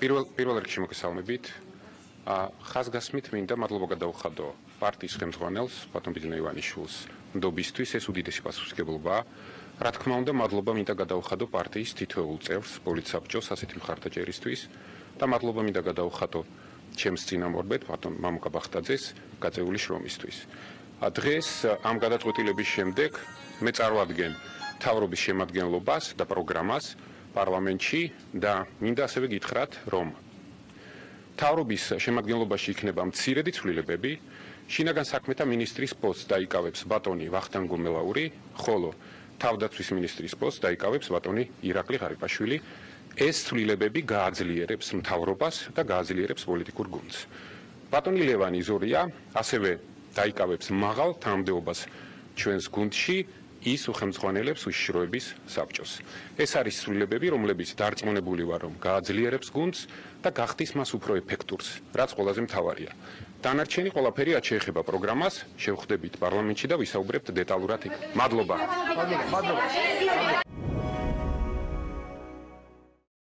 პირველ რიგში მოგესალმებით. ხაზგასმით მინდა მადლობა გადაუხადო პარტიის ხელმძღვანელს, ბატონ ბიძინა ივანიშვილს, ნდობისთვის ეს უდიდესი პასუხისმგებლობაა. რა თქმა უნდა, მადლობა მინდა გადაუხადო პარტიის თითოეულ წევრს, პოლიტსაბჭოს ასეთი მხარდაჭერისთვის და მადლობა მინდა გადაუხადო ჩემს წინამორბედ, ბატონ მამუკა ბახტაძეს, გაწეული შრომისთვის. დღეს ამ გადაწყვეტილების შემდეგ მე წარვადგენ მთავრობის შემადგენლობას და პროგრამას პარლამენტში და მინდა ასევე გითხრათ, რომ მთავრობის შემადგენლობაში იქნება მცირედი ცვლილებები. შინაგან საქმეთა მინისტრის პოსტს დაიკავებს ბატონი ვახტანგ გუმელაური, ხოლო თავდაცვის მინისტრის პოსტს დაიკავებს ბატონი ირაკლი ღარიბაშვილი. ეს ცვლილებები გააძლიერებს მთავრობას და გააძლიერებს პოლიტიკურ გუნდს. ბატონი ლევანი ზორია ასევე დაიკავებს მაღალ თანამდებობას ჩვენს გუნდში, ის უხელმძღვანელებს უშიშროების საბჭოს. ეს არის ცვლილებები, რომლებიც დარწმუნებული ვარ, რომ გააძლიერებს გუნდს და გახდის მას უფრო ეფექტურს, რაც ყველაზე მთავარია. დანარჩენი ყველაფერი რაც შეეხება პროგრამას, შევხვდებით პარლამენტში და ვისაუბრებთ დეტალურად იქ. მადლობა.